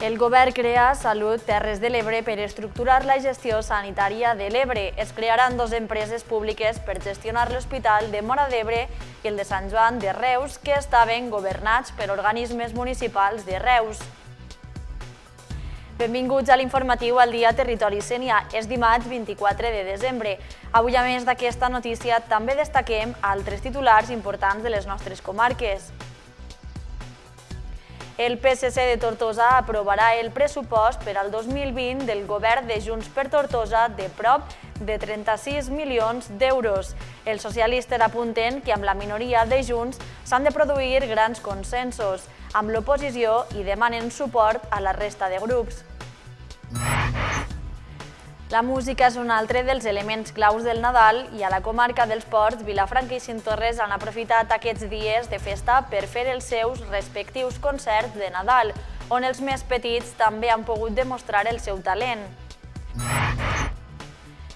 El govern crea Salut Terres de l'Ebre per estructurar la gestió sanitària de l'Ebre. Es crearan dues empreses públiques per gestionar l'Hospital de Móra d'Ebre i el de Sant Joan de Reus, que estaven governats per organismes municipals de Reus. Benvinguts a l'informatiu al dia Territori Sénia. És dimarts 24 de desembre. Avui, a més d'aquesta notícia, també destaquem altres titulars importants de les nostres comarques. El PSC de Tortosa aprovarà el pressupost per al 2020 del govern de Junts per Tortosa de prop de 36 milions d'euros. Els socialistes apunten que amb la minoria de Junts s'han de produir grans consensos amb l'oposició i demanen suport a la resta de grups. La música és un altre dels elements claus del Nadal i a la comarca dels Ports, Vilafranca i Cinctorres han aprofitat aquests dies de festa per fer els seus respectius concerts de Nadal, on els més petits també han pogut demostrar el seu talent.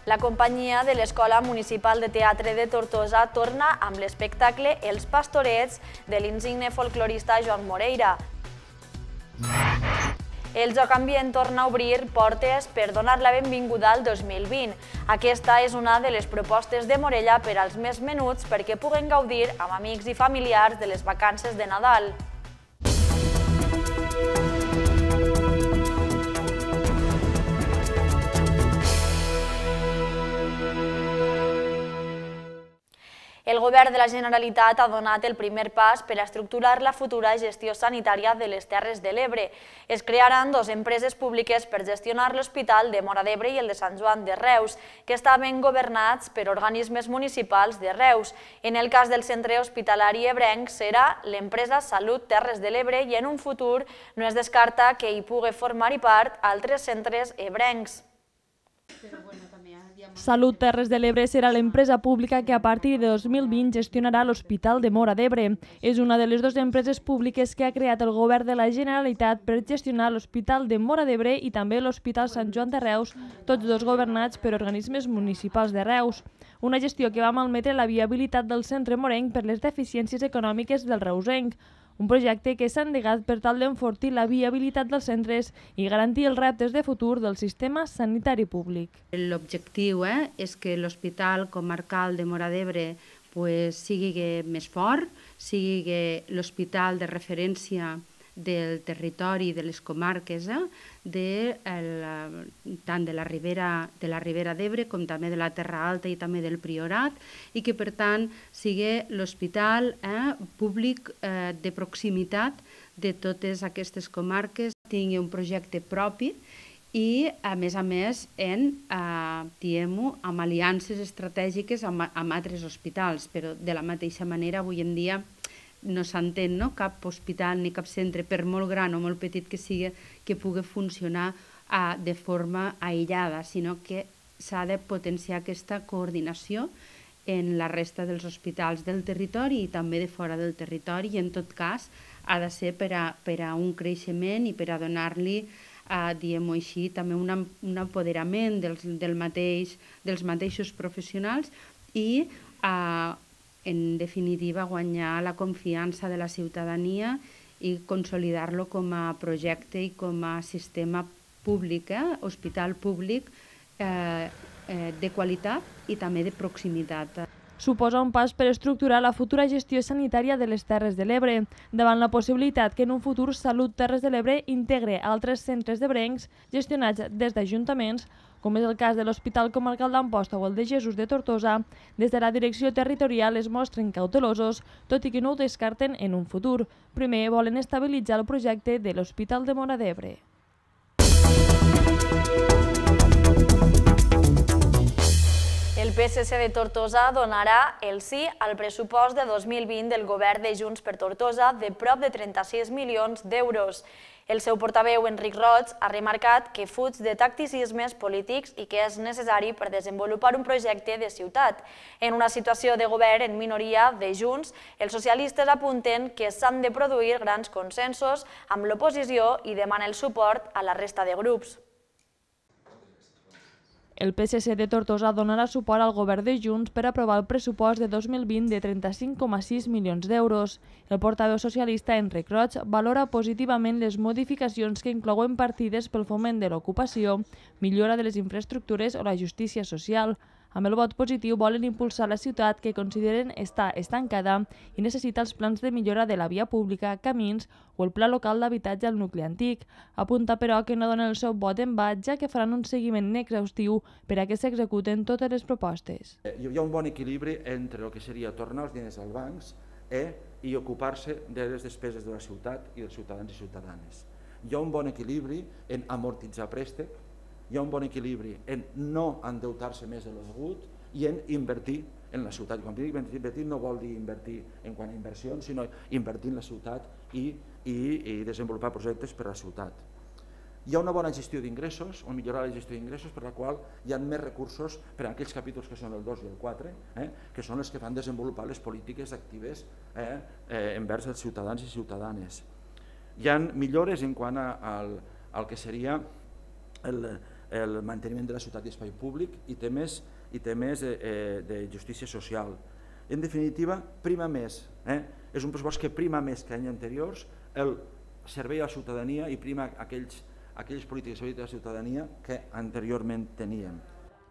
La companyia de l'Escola Municipal de Teatre de Tortosa torna amb l'espectacle Els Pastorets de l'insigne folclorista Joan Moreira. El Joc Ambient torna a obrir portes per donar la benvinguda al 2020. Aquesta és una de les propostes de Morella per als més menuts perquè puguen gaudir amb amics i familiars de les vacances de Nadal. El govern de la Generalitat ha donat el primer pas per a estructurar la futura gestió sanitària de les Terres de l'Ebre. Es crearan dues empreses públiques per gestionar l'Hospital de Móra d'Ebre i el de Sant Joan de Reus, que estaven governats per organismes municipals de Reus. En el cas del centre hospitalari ebrenc serà l'empresa Salut Terres de l'Ebre i en un futur no es descarta que hi pugui formar-hi part altres centres ebrencs. Salut Terres de l'Ebre serà l'empresa pública que a partir de 2020 gestionarà l'Hospital de Móra d'Ebre. És una de les dues empreses públiques que ha creat el govern de la Generalitat per gestionar l'Hospital de Móra d'Ebre i també l'Hospital Sant Joan de Reus, tots dos governats per organismes municipals de Reus. Una gestió que va malmetre la viabilitat del centre morenc per les deficiències econòmiques del reusenc. Un projecte que s'ha endegat per tal d'enfortir la viabilitat dels centres i garantir els reptes de futur del sistema sanitari públic. L'objectiu és que l'Hospital Comarcal de Móra d'Ebre sigui més fort, sigui l'hospital de referència del territori, de les comarques, tant de la Ribera d'Ebre com també de la Terra Alta i també del Priorat, i que per tant sigui l'hospital públic de proximitat de totes aquestes comarques, tingui un projecte propi i a més amb aliances estratègiques amb altres hospitals, però de la mateixa manera avui en dia no s'entén cap hospital ni cap centre, per molt gran o molt petit que sigui, que pugui funcionar de forma aïllada, sinó que s'ha de potenciar aquesta coordinació en la resta dels hospitals del territori i també de fora del territori, i en tot cas ha de ser per a un creixement i per a donar-li, diguem-ho així, també un apoderament dels mateixos professionals i en definitiva, guanyar la confiança de la ciutadania i consolidar-lo com a projecte i com a sistema públic, hospital públic de qualitat i també de proximitat. Suposa un pas per estructurar la futura gestió sanitària de les Terres de l'Ebre, davant la possibilitat que en un futur Salut Terres de l'Ebre integre altres centres ebrencs gestionats des d'ajuntaments, com és el cas de l'Hospital Comarcal d'Amposta o el de Jesús de Tortosa. Des de la direcció territorial es mostren cautelosos, tot i que no ho descarten en un futur. Primer volen estabilitzar el projecte de l'Hospital de Móra d'Ebre. El PSC de Tortosa donarà el sí al pressupost de 2020 del govern de Junts per Tortosa de prop de 36 milions d'euros. El seu portaveu, Enric Roig, ha remarcat que fuig de tacticismes polítics i que és necessari per desenvolupar un projecte de ciutat. En una situació de govern en minoria de Junts, els socialistes apunten que s'han de produir grans consensos amb l'oposició i demanen el suport a la resta de grups. El PSC de Tortosa donarà suport al govern de Junts per aprovar el pressupost de 2020 de 35,6 milions d'euros. El portaveu socialista Enric Roig valora positivament les modificacions que inclouen partides pel foment de l'ocupació, millora de les infraestructures o la justícia social. Amb el vot positiu volen impulsar la ciutat que consideren està estancada i necessita els plans de millora de la via pública, camins o el pla local d'habitatge al nucli antic. Apunta, però, que no donen el seu vot en va, ja que faran un seguiment exhaustiu per a que s'executen totes les propostes. Hi ha un bon equilibri entre el que seria tornar els diners als bancs i ocupar-se de les despeses de la ciutat i dels ciutadans i ciutadanes. Hi ha un bon equilibri en amortitzar préstec, hi ha un bon equilibri en no endeutar-se més de lo degut i en invertir en la ciutat. Quan dic invertir no vol dir invertir en quant a inversions, sinó invertir en la ciutat i desenvolupar projectes per a la ciutat. Hi ha una bona gestió d'ingressos, o millorar la gestió d'ingressos, per la qual hi ha més recursos per a aquells capítols que són el 2 i el 4, que són els que fan desenvolupar les polítiques actives envers els ciutadans i ciutadanes. Hi ha millores en quant al que seria el manteniment de la ciutat i espai públic i temes de justícia social. En definitiva, prima més, és un pressupost que prima més que anys anteriors el servei a la ciutadania i prima aquelles polítiques de servei a la ciutadania que anteriorment teníem.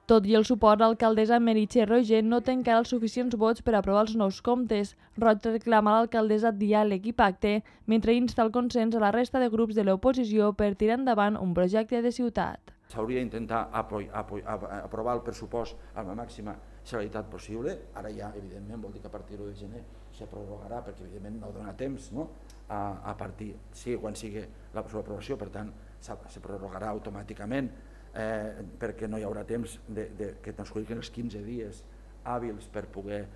Tot i el suport, l'alcaldessa Meritxell Roigé no té encara els suficients vots per aprovar els nous comptes. Roig reclama a l'alcaldessa diàleg i pacte, mentre insta el consens a la resta de grups de l'oposició per tirar endavant un projecte de ciutat. S'hauria d'intentar aprovar el pressupost amb la màxima celeritat possible. Ara ja, evidentment, vol dir que a partir de gener se prorrogarà, perquè evidentment no dona temps a partir, quan sigui la seva aprovació, per tant, se prorrogarà automàticament perquè no hi haurà temps que transcorrin els 15 dies hàbils per poder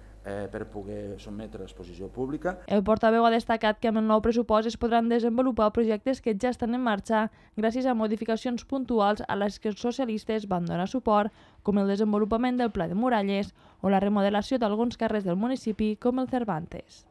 sotmetre a exposició pública. El portaveu ha destacat que amb el nou pressupost es podran desenvolupar projectes que ja estan en marxa gràcies a modificacions puntuals a les que els socialistes van donar suport, com el desenvolupament del Pla de Muralles o la remodelació d'alguns carrers del municipi com el Cervantes.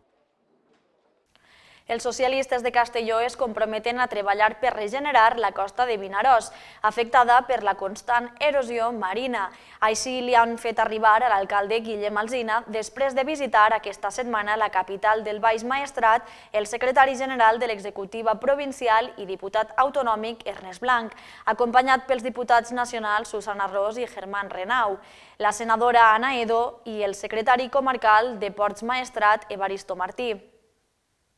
Els socialistes de Castelló es comprometen a treballar per regenerar la costa de Vinaròs, afectada per la constant erosió marina. Així li han fet arribar a l'alcalde Guillem Alsina després de visitar aquesta setmana la capital del Baix Maestrat el secretari general de l'executiva provincial i diputat autonòmic Ernest Blanc, acompanyat pels diputats nacionals Susana Ros i Germán Renau, la senadora Ana Edo i el secretari comarcal de Ports Maestrat Evaristo Martí.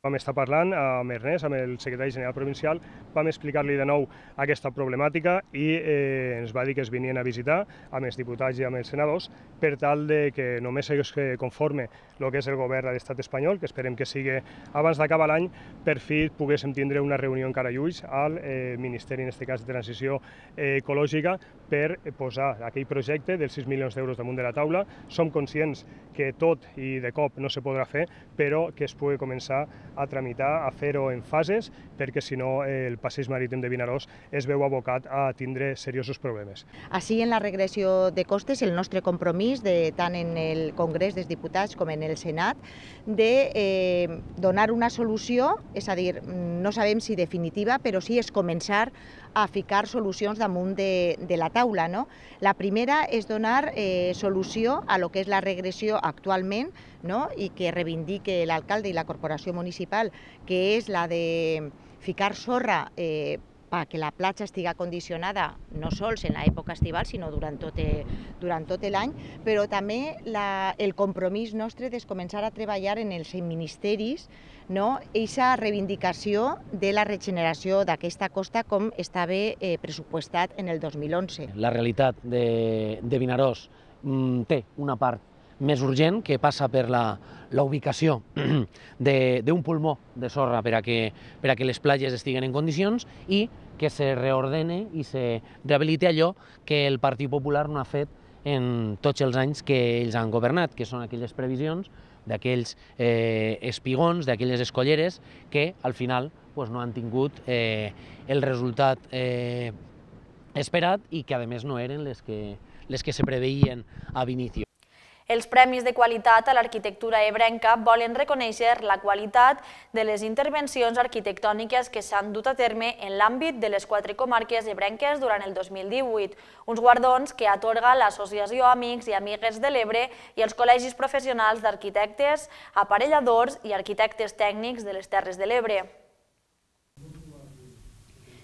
Vam estar parlant amb Ernest, amb el secretari general provincial, vam explicar-li de nou aquesta problemàtica i ens va dir que es venien a visitar amb els diputats i amb els senadors per tal que només es conforme el que és el govern de l'estat espanyol, que esperem que sigui abans d'acabar l'any, per fi poguéssim tindre una reunió en Carallulls al Ministeri, en aquest cas de Transició Ecològica, per posar aquell projecte dels 6 milions d'euros damunt de la taula. Som conscients que tot i de cop no se podrà fer, però que es pugui començar a tramitar, a fer-ho en fases, perquè si no el passeig marítim de Vinaròs es veu abocat a tindre seriosos problemes. Així, en la regressió de costes, el nostre compromís, tant en el Congrés dels Diputats com en el Senat, de donar una solució, és a dir, no sabem si definitiva, però sí és començar a ficar solucions damunt de la taula. La primera és donar solució a lo que és la regressió actualment i que reivindique l'alcalde i la corporació municipal, que és la de ficar sorra perquè la platja estigui condicionada no sols en l'època estival, sinó durant tot l'any, però també el compromís nostre de començar a treballar en els ministeris aquesta reivindicació de la regeneració d'aquesta costa com estava pressupostat en el 2011. La realitat de Vinaròs té una part més urgent que passa per la ubicació d'un pulmó de sorra per a que les platges estiguen en condicions i que se reordene i se rehabiliti allò que el Partit Popular no ha fet en tots els anys que ells han governat, que són aquelles previsions d'aquells espigons, d'aquelles escolleres que al final no han tingut el resultat esperat i que a més no eren les que se preveien a l'inici. Els Premis de Qualitat a l'Arquitectura ebrenca volen reconèixer la qualitat de les intervencions arquitectòniques que s'han dut a terme en l'àmbit de les 4 comarques ebrenques durant el 2018, uns guardons que atorga l'Associació Amics i Amigues de l'Ebre i els col·legis professionals d'arquitectes, aparelladors i arquitectes tècnics de les Terres de l'Ebre.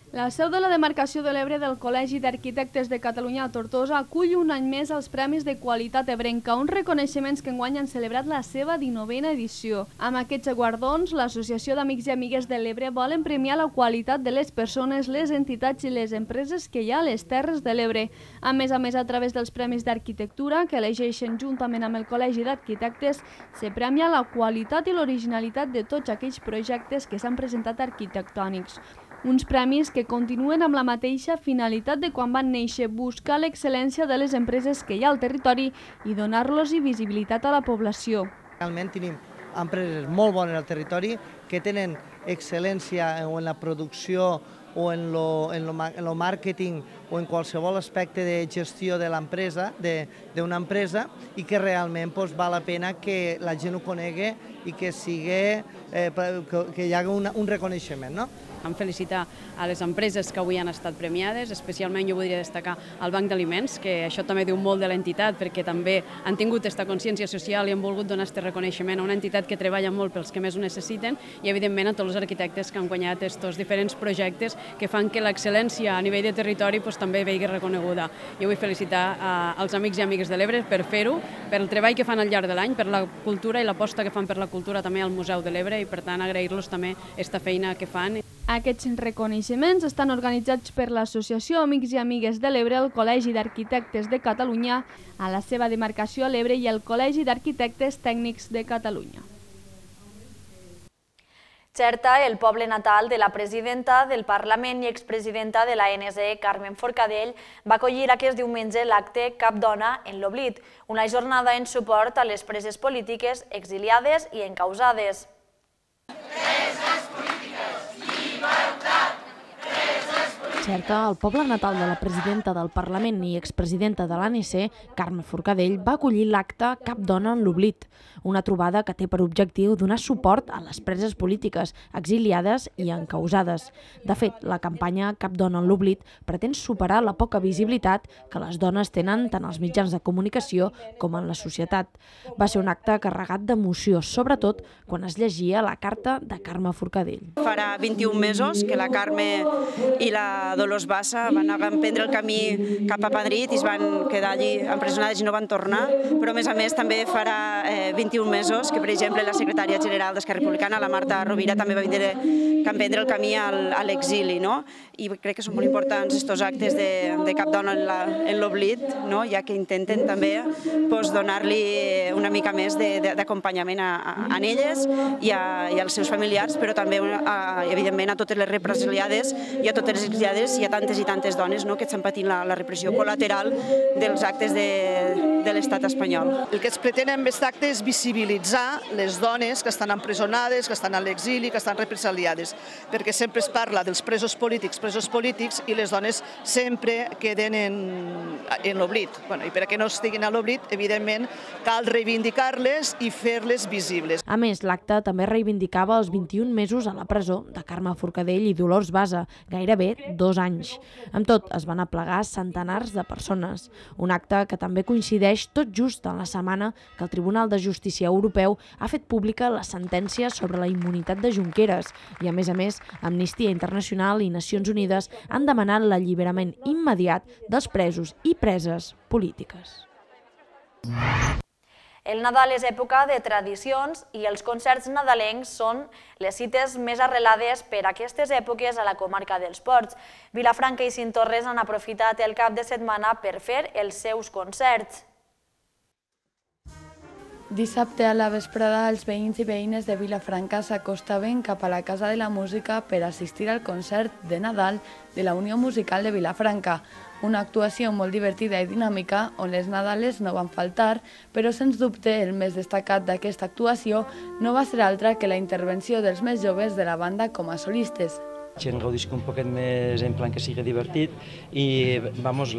La seu de la demarcació de l'Ebre del Col·legi d'Arquitectes de Catalunya a Tortosa acull un any més els Premis de Qualitat Ebrenca, uns reconeixements que enguany han celebrat la seva 19a edició. Amb aquests guardons, l'Associació d'Amics i Amigues de l'Ebre volen premiar la qualitat de les persones, les entitats i les empreses que hi ha a les Terres de l'Ebre. A més, a través dels Premis d'Arquitectura, que elegeixen juntament amb el Col·legi d'Arquitectes, se premia la qualitat i l'originalitat de tots aquells projectes que s'han presentat arquitectònics. Uns premis que continuen amb la mateixa finalitat de quan van néixer, buscar l'excel·lència de les empreses que hi ha al territori i donar-los visibilitat a la població. Realment tenim empreses molt bones al territori que tenen excel·lència en la producció o en el màrqueting o en qualsevol aspecte de gestió de l'empresa, d'una empresa, i que realment val la pena que la gent ho conegui i que hi hagi un reconeixement, no? Em felicitar a les empreses que avui han estat premiades, especialment jo voldria destacar el Banc d'Aliments, que això també diu molt de l'entitat, perquè també han tingut aquesta consciència social i han volgut donar aquest reconeixement a una entitat que treballa molt pels que més ho necessiten i, evidentment, a tots els arquitectes que han guanyat aquests diferents projectes que fan que l'excel·lència a nivell de territori també vegi reconeguda. Jo vull felicitar als amics i amigues de l'Ebre per fer-ho, per el treball que fan al llarg de l'any, per la cultura i l'aposta que fan per la cultura també al Museu de l'Ebre i, per tant, agrair-los també aquesta feina que fan. Aquests reconeixements estan organitzats per l'Associació Amics i Amigues de l'Ebre, el Col·legi d'Arquitectes de Catalunya, a la seva demarcació a l'Ebre i el Col·legi d'Arquitectes Tècnics de Catalunya. Xerta, el poble natal de la presidenta del Parlament i expresidenta de l'ANC, Carmen Forcadell, va acollir aquest diumenge l'acte Cap Dona en l'Oblit, una jornada en suport a les preses polítiques exiliades i encausades. Xerta, el poble natal de la presidenta del Parlament i expresidenta de l'ANC, Carme Forcadell, va acollir l'acte Cap Dona en l'Oblit, una trobada que té per objectiu donar suport a les preses polítiques exiliades i encausades. De fet, la campanya Cap Dona en l'Oblit pretén superar la poca visibilitat que les dones tenen tant als mitjans de comunicació com en la societat. Va ser un acte carregat d'emoció, sobretot quan es llegia la carta de Carme Forcadell. Farà 21 mesos que la Carme i la Dolors Bassa van emprendre el camí cap a Madrid i es van quedar allí empresonades i no van tornar, però a més també farà 21 mesos que, per exemple, la secretària general d'Esquerra Republicana, la Marta Rovira, també va emprendre el camí a l'exili, i crec que són molt importants aquests actes de Cap Dona en l'Oblit, ja que intenten també donar-li una mica més d'acompanyament a elles i als seus familiars, però també, evidentment, a totes les represaliades i a totes les exiliades i a tantes i tantes dones que estan patint la repressió col·lateral dels actes de l'estat espanyol. El que es pretén amb aquest acte és visibilitzar les dones que estan empresonades, que estan a l'exili, que estan represaliades, perquè sempre es parla dels presos polítics i les dones sempre queden en l'oblit. I perquè no estiguin a l'oblit, evidentment, cal reivindicar-les i fer-les visibles. A més, l'acte també reivindicava els 21 mesos a la presó de Carme Forcadell i Dolors Bassa, gairebé 2 anys. Amb tot, es van aplegar centenars de persones. Un acte que també coincideix tot just en la setmana que el Tribunal de Justícia Europeu ha fet pública la sentència sobre la immunitat de Junqueras i, a més, Amnistia Internacional i Nacions Unides han demanat l'alliberament immediat dels presos i preses polítiques. El Nadal és època de tradicions i els concerts nadalencs són les cites més arrelades per a aquestes èpoques a la comarca dels Ports. Vilafranca i Cinctorres han aprofitat el cap de setmana per fer els seus concerts. Dissabte a la vesprada, els veïns i veïnes de Vilafranca s'acostaven cap a la Casa de la Música per assistir al concert de Nadal de la Unió Musical de Vilafranca, una actuació molt divertida i dinàmica on les Nadales no van faltar, però sens dubte el més destacat d'aquesta actuació no va ser altra que la intervenció dels més joves de la banda com a solistes. gent gaudisca un poquet més en plan que sigui divertit i, vamos,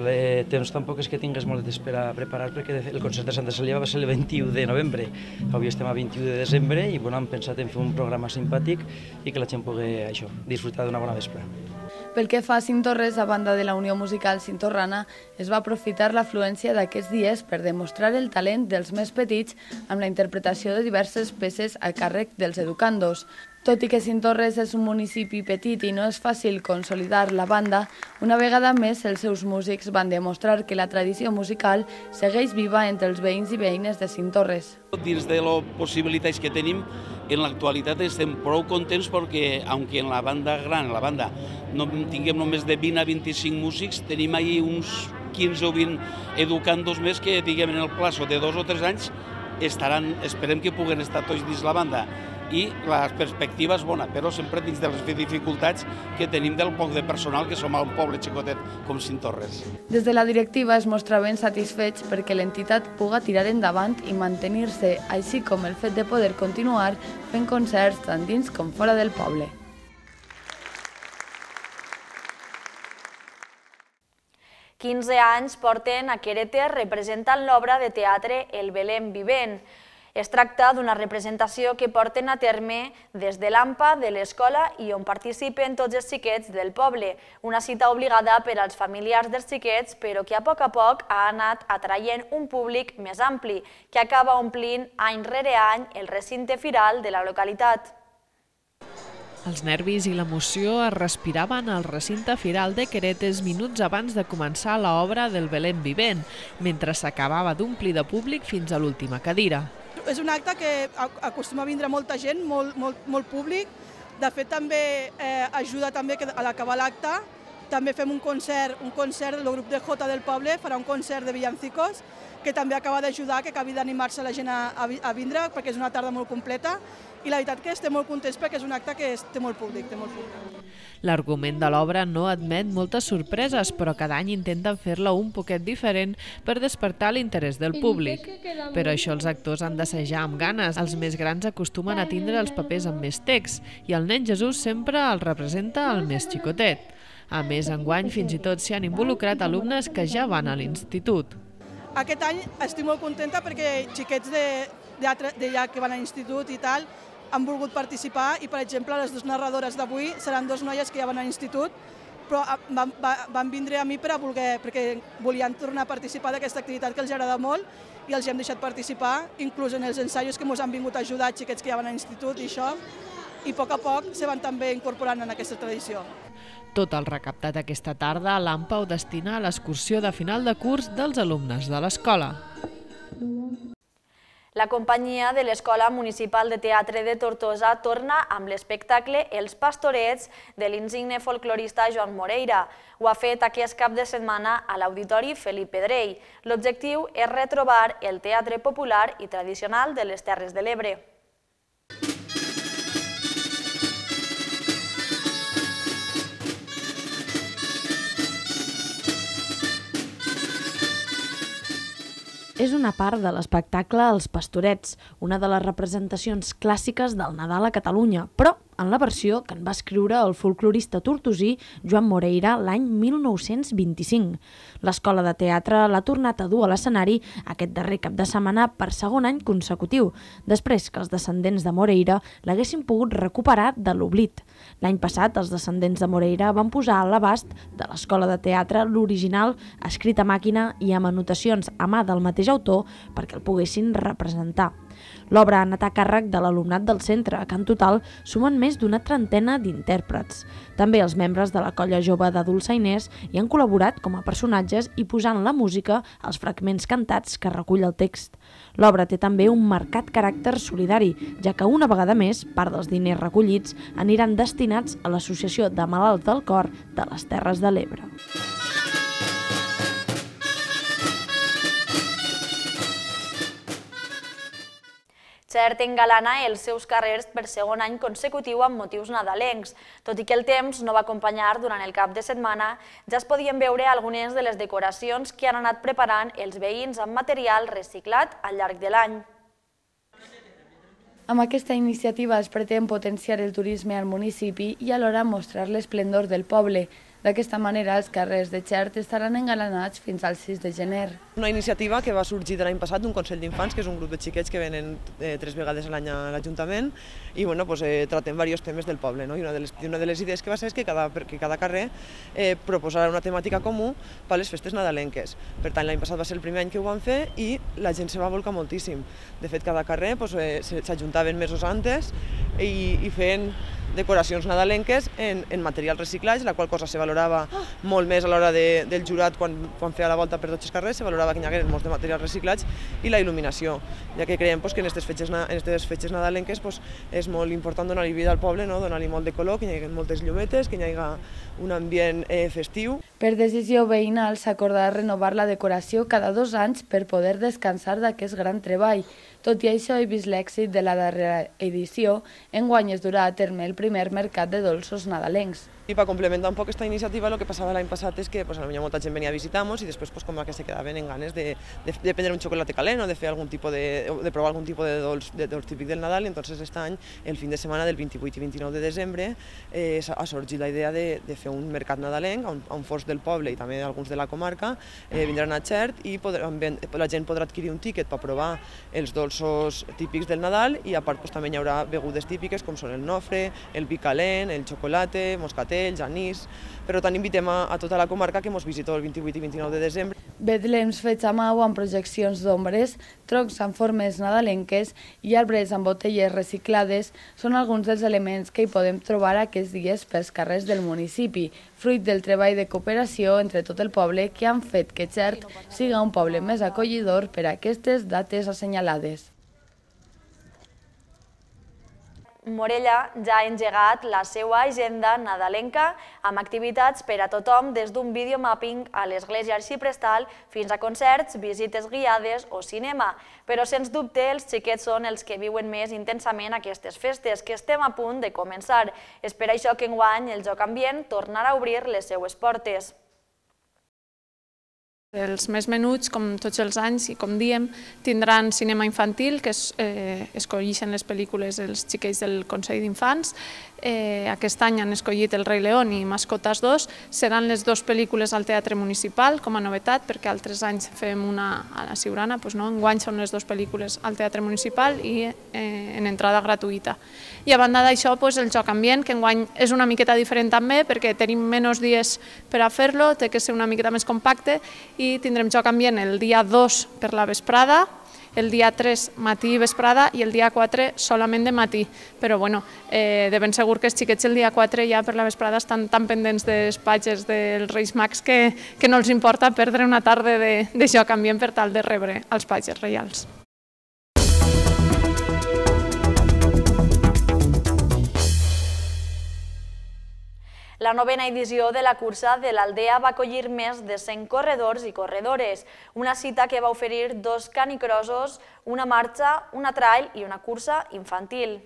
temps tampoc és que tingués molt de temps per a preparar perquè el concert de Santa Cecília va ser el 21 de novembre. Avui estem a 21 de desembre i hem pensat en fer un programa simpàtic i que la gent pugui disfrutar d'una bona vespre. Pel que fa a Cintorres, a banda de la Unió Musical Cintorrana, es va aprofitar l'afluència d'aquests dies per demostrar el talent dels més petits amb la interpretació de diverses peces a càrrec dels educandos. Tot i que Cintorres és un municipi petit i no és fàcil consolidar la banda, una vegada més els seus músics van demostrar que la tradició musical segueix viva entre els veïns i veïnes de Cintorres. Dins de les possibilitats que tenim, en l'actualitat estem prou contents perquè, aunque en la banda gran, en la banda, no tinguem només de 20 a 25 músics, tenim ahí uns 15 o 20 educandos més que, diguem, en el plaço de 2 o 3 anys estaran, esperem que puguen estar tots dins la banda. I la perspectiva és bona, però sempre dins de les dificultats que tenim del poc de personal que som a un poble xicotet com Cintorres. Des de la directiva es mostraven satisfets perquè l'entitat puga tirar endavant i mantenir-se, així com el fet de poder continuar fent concerts tant dins com fora del poble. «15 anys porten a Quereter representant l'obra de teatre El Belén Vivent. Es tracta d'una representació que porten a terme des de l'AMPA de l'escola i on participen tots els xiquets del poble, una cita obligada per als familiars dels xiquets, però que a poc ha anat atraient un públic més ampli, que acaba omplint any rere any el recinte firal de la localitat. Els nervis i l'emoció es respiraven al recinte firal de Queretes minuts abans de començar l'obra del Belén Vivent, mentre s'acabava d'omplir de públic fins a l'última cadira. És un acte que acostuma a vindre molta gent, molt públic. De fet, també ajuda també que a l'acabar l'acte també fem un concert del grup de Jota del poble, farà un concert de villancicos, que també acaba d'ajudar, que acabi d'animar-se la gent a vindre, perquè és una tarda molt completa. I la veritat que estem molt contents perquè és un acte que té molt públic. L'argument de l'obra no admet moltes sorpreses, però cada any intenten fer-la un poquet diferent per despertar l'interès del públic. Per això els actors han d'assajar amb ganes. Els més grans acostumen a tindre els papers amb més text i el nen Jesús sempre el representa el més xicotet. A més, enguany fins i tot s'hi han involucrat alumnes que ja van a l'institut. Aquest any estic molt contenta perquè xiquets d'allà que van a l'institut i tal han volgut participar i, per exemple, les dues narradores d'avui seran dues noies que ja van a l'institut, però van vindre a mi perquè volien tornar a participar d'aquesta activitat que els agrada molt i els hem deixat participar, inclús en els ensaios que ens han vingut a ajudar xiquets que ja van a l'institut i això, i a poc se van també incorporant en aquesta tradició. Tot el recaptat aquesta tarda l'AMPA ho destina a l'excursió de final de curs dels alumnes de l'escola. La companyia de l'Escola Municipal de Teatre de Tortosa torna amb l'espectacle Els Pastorets de l'insigne folclorista Joan Moreira. Ho ha fet aquest cap de setmana a l'Auditori Felip Pedrell. L'objectiu és retrobar el teatre popular i tradicional de les Terres de l'Ebre. És una part de l'espectacle Els Pastorets, una de les representacions clàssiques del Nadal a Catalunya, però en la versió que en va escriure el folclorista tortosí Joan Moreira l'any 1925. L'Escola de Teatre l'ha tornat a dur a l'escenari aquest darrer cap de setmana per segon any consecutiu, després que els descendents de Moreira l'haguessin pogut recuperar de l'oblit. L'any passat, els descendents de Moreira van posar a l'abast de l'Escola de Teatre l'original escrit a màquina i amb anotacions a mà del mateix autor perquè el poguessin representar. L'obra ha anat a càrrec de l'alumnat del centre, que en total sumen més d'una trentena d'intèrprets. També els membres de la colla jove de dolçainers hi han col·laborat com a personatges i posant la música als fragments cantats que recull el text. L'obra té també un marcat caràcter solidari, ja que una vegada més part dels diners recollits aniran destinats a l'Associació de Malalts del Cor de les Terres de l'Ebre. Xert engalana els seus carrers per segon any consecutiu amb motius nadalencs. Tot i que el temps no va acompanyar durant el cap de setmana, ja es podien veure algunes de les decoracions que han anat preparant els veïns amb material reciclat al llarg de l'any. Amb aquesta iniciativa es pretén potenciar el turisme al municipi i alhora mostrar l'esplendor del poble. D'aquesta manera, els carrers de Xert estaran engalanats fins al 6 de gener. Una iniciativa que va sorgir de l'any passat d'un Consell d'Infants, que és un grup de xiquets que venen 3 vegades a l'any a l'Ajuntament i tratem diversos temes del poble. I una de les idees que va ser és que cada carrer proposarà una temàtica comú per a les festes nadalenques. Per tant, l'any passat va ser el primer any que ho van fer i la gent se va volcar moltíssim. De fet, cada carrer s'ajuntaven mesos antes i feien decoracions nadalenques en material reciclat, la qual cosa se valorava molt més a l'hora del jurat quan feia la volta per tots els carrers, se valorava que hi hagués molts de materials reciclats i la il·luminació, ja que creiem que en aquestes fetges nadalenques és molt important donar-li vida al poble, donar-li molt de color, que hi hagi moltes llumetes, que hi hagi un ambient festiu. Per decisió veïnal s'acordarà renovar la decoració cada 2 anys per poder descansar d'aquest gran treball. Tot i això, i vist l'èxit de la darrera edició, enguany es durà a terme el primer mercat de dolços nadalencs. I per complementar un poc aquesta iniciativa, el que passava l'any passat és que molta gent venia a visitar-nos i després com que se quedaven en ganes de prendre un xocolate calent o de fer de provar algun tipus de dolç típic del Nadal. I entonces aquest any, el fin de setmana del 28 i 29 de desembre, ha sorgit la idea de fer un mercat nadalenc on forts del poble i també alguns de la comarca vindran a Xert i la gent podrà adquirir un tíquet per provar els dolços típics del Nadal i a part també hi haurà begudes típiques com són el nofre, el vi calent, el xocolate, moscatel, anís. Per tant, invitem a tota la comarca que ens visiteu el 28 i 29 de desembre. Betlems fets a mà amb projeccions d'ombres, troncs amb formes nadalenques i arbres amb botelles reciclades són alguns dels elements que hi podem trobar aquests dies pels carrers del municipi, fruit del treball de cooperació entre tot el poble que han fet que Xert siga un poble més acollidor per a aquestes dates assenyalades. Morella ja ha engegat la seva agenda nadalenca amb activitats per a tothom des d'un videomapping a l'església arxiprestal fins a concerts, visites guiades o cinema. Però, sens dubte, els xiquets són els que viuen més intensament aquestes festes, que estem a punt de començar. És per això que enguany el Joc Ambient tornarà a obrir les seues portes. Els més menuts, com tots els anys, i com diem, tindran cinema infantil, que escolleixen les pel·lícules els xiquets del Consell d'Infants. Aquest any han escollit El Rei León i Mascotas 2. Seran les 2 pel·lícules al Teatre Municipal, com a novetat, perquè altres anys fem una a la Siurana. Enguany són les 2 pel·lícules al Teatre Municipal i en entrada gratuïta. I a banda d'això, el Joc Ambient, que enguany és una miqueta diferent també, perquè tenim menys dies per a fer-lo, té que ser una miqueta més compacte, i tindrem Joc Ambient el dia 2 per la vesprada, el dia 3 matí i vesprada i el dia 4 solament de matí. Però de ben segur que els xiquets el dia 4 ja per la vesprada estan tan pendents dels patges dels Reis Mags que no els importa perdre una tarda de Joc Ambient per tal de rebre els patges reials. La 9ª edició de la cursa de l'Aldea va acollir més de 100 corredors i corredores, una cita que va oferir 2 canicrossos, una marxa, una trail i una cursa infantil.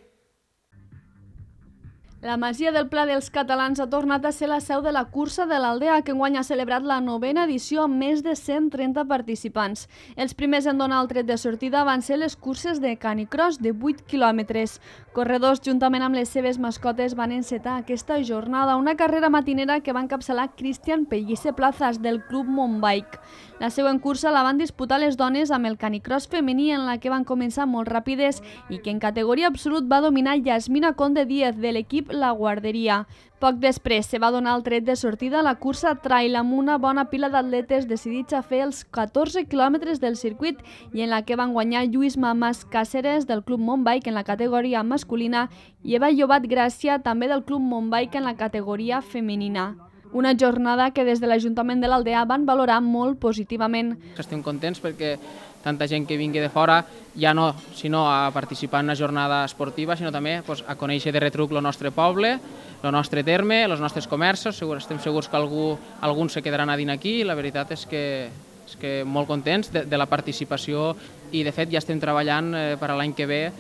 La Masia del Pla dels Catalans ha tornat a ser la seu de la cursa de l'Aldea, que enguany ha celebrat la 9ª edició amb més de 130 participants. Els primers en donar el tret de sortida van ser les curses de canicross de 8 quilòmetres. Corredors, juntament amb les seves mascotes, van encetar aquesta jornada, una carrera matinera que va encapçalar Cristian Pellice Plazas, del Club Montbike. La següent cursa la van disputar les dones amb el canicross femení, en la que van començar molt ràpides i que en categoria absolut va dominar Yasmina Conde Díez, de l'equip La Guarderia. Poc després se va donar el tret de sortida a la cursa trail amb una bona pila d'atletes decidits a fer els 14 quilòmetres del circuit i en la que van guanyar Lluís Mamas Càceres, del Club Montbike, en la categoria masculina, i Eva Llobat Gràcia, també del Club Montbike, en la categoria femenina. Una jornada que des de l'Ajuntament de l'Aldea van valorar molt positivament. Estem contents perquè tanta gent que vingui de fora, ja no sinó a participar en una jornada esportiva, sinó també a conèixer de retruc el nostre poble, el nostre terme, els nostres comerços. Estem segurs que alguns se quedaran a dins aquí i la veritat és que molt contents de la participació i de fet ja estem treballant per a l'any que ve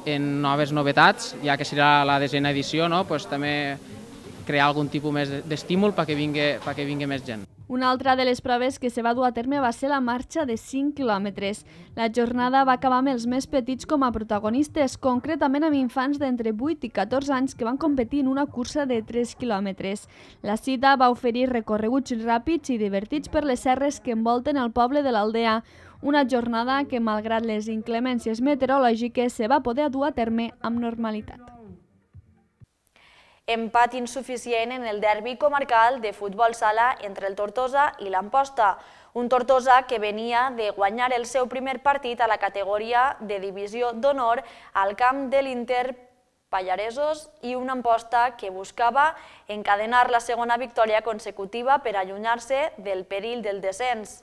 en noves novetats, ja que serà la 10ª edició, també crear algun tipus més d'estímul perquè vingui més gent. Una altra de les proves que se va dur a terme va ser la marxa de 5 quilòmetres. La jornada va acabar amb els més petits com a protagonistes, concretament amb infants d'entre 8 i 14 anys que van competir en una cursa de 3 quilòmetres. La cita va oferir recorreguts ràpids i divertits per les serres que envolten el poble de l'Aldea, una jornada que, malgrat les inclemències meteorològiques, se va poder dur a terme amb normalitat. Empat insuficient en el derbi comarcal de futbol sala entre el Tortosa i l'Amposta. Un Tortosa que venia de guanyar el seu primer partit a la categoria de divisió d'honor al camp de l'Inter Pallaresos i una Amposta que buscava encadenar la segona victòria consecutiva per allunyar-se del perill del descens.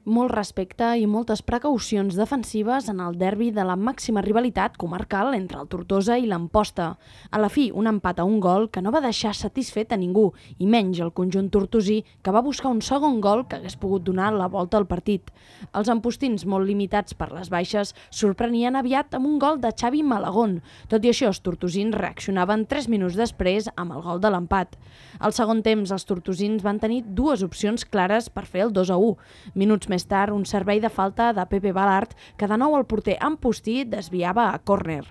Molt respecte i moltes precaucions defensives en el derbi de la màxima rivalitat comarcal entre el Tortosa i l'Amposta. A la fi, un empat a un gol que no va deixar satisfet a ningú, i menys el conjunt tortosí, que va buscar un segon gol que hagués pogut donar la volta al partit. Els ampostins, molt limitats per les baixes, sorprenien aviat amb un gol de Xavi Malagón. Tot i això, els tortosins reaccionaven 3 minuts després amb el gol de l'empat. Al segon temps, els tortosins van tenir dues opcions clares per fer el 2-1. Minuts més tard, un servei de falta de Pepe Balart, que de nou el porter Ampostí desviava a córner.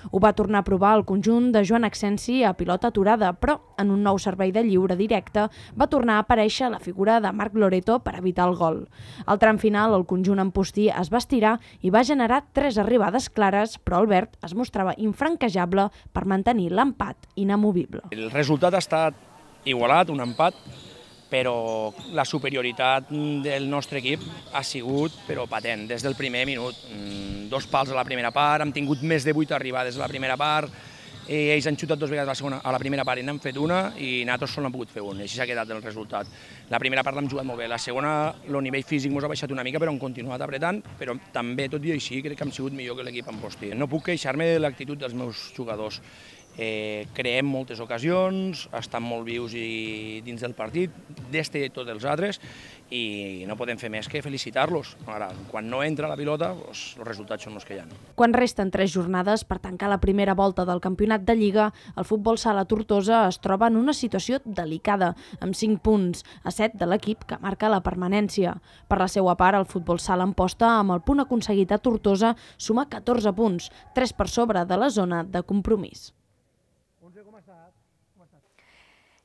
Ho va tornar a provar el conjunt de Joan Accensi a pilota aturada, però en un nou servei de lliure directe va tornar a aparèixer la figura de Marc Loreto per evitar el gol. Al tram final, el conjunt ampostí es va estirar i va generar 3 arribades clares, però Albert es mostrava infranquejable per mantenir l'empat inamovible. El resultat ha estat igualat, un empat, però la superioritat del nostre equip ha sigut patent des del primer minut. 2 pals a la primera part, hem tingut més de 8 arribades a la primera part, ells han xutat 2 vegades a la primera part i n'han fet una i nosaltres sols n'hem pogut fer una, i així s'ha quedat el resultat. La primera part l'hem jugat molt bé, la segona el nivell físic ens ha baixat una mica però hem continuat apretant, però també tot i així crec que hem sigut millor que l'equip ampostí. No puc queixar-me de l'actitud dels meus jugadors. Creem moltes ocasions, estan molt vius i dins del partit, d'este i tots els altres, i no podem fer més que felicitar-los. Ara, quan no entra la pilota, els resultats són els que hi ha. Quan resten 3 jornades per tancar la primera volta del campionat de Lliga, el futbol sala Tortosa es troba en una situació delicada, amb 5 punts, a 7 de l'equip que marca la permanència. Per la seva part, el futbol sala Amposta, amb el punt aconseguit a Tortosa, suma 14 punts, 3 per sobre de la zona de compromís.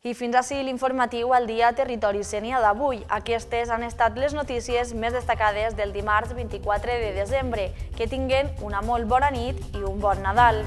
I fins ací l'informatiu al dia Territori Sénia d'avui. Aquestes han estat les notícies més destacades del dimarts 24 de desembre. Que tinguen una molt bona nit i un bon Nadal.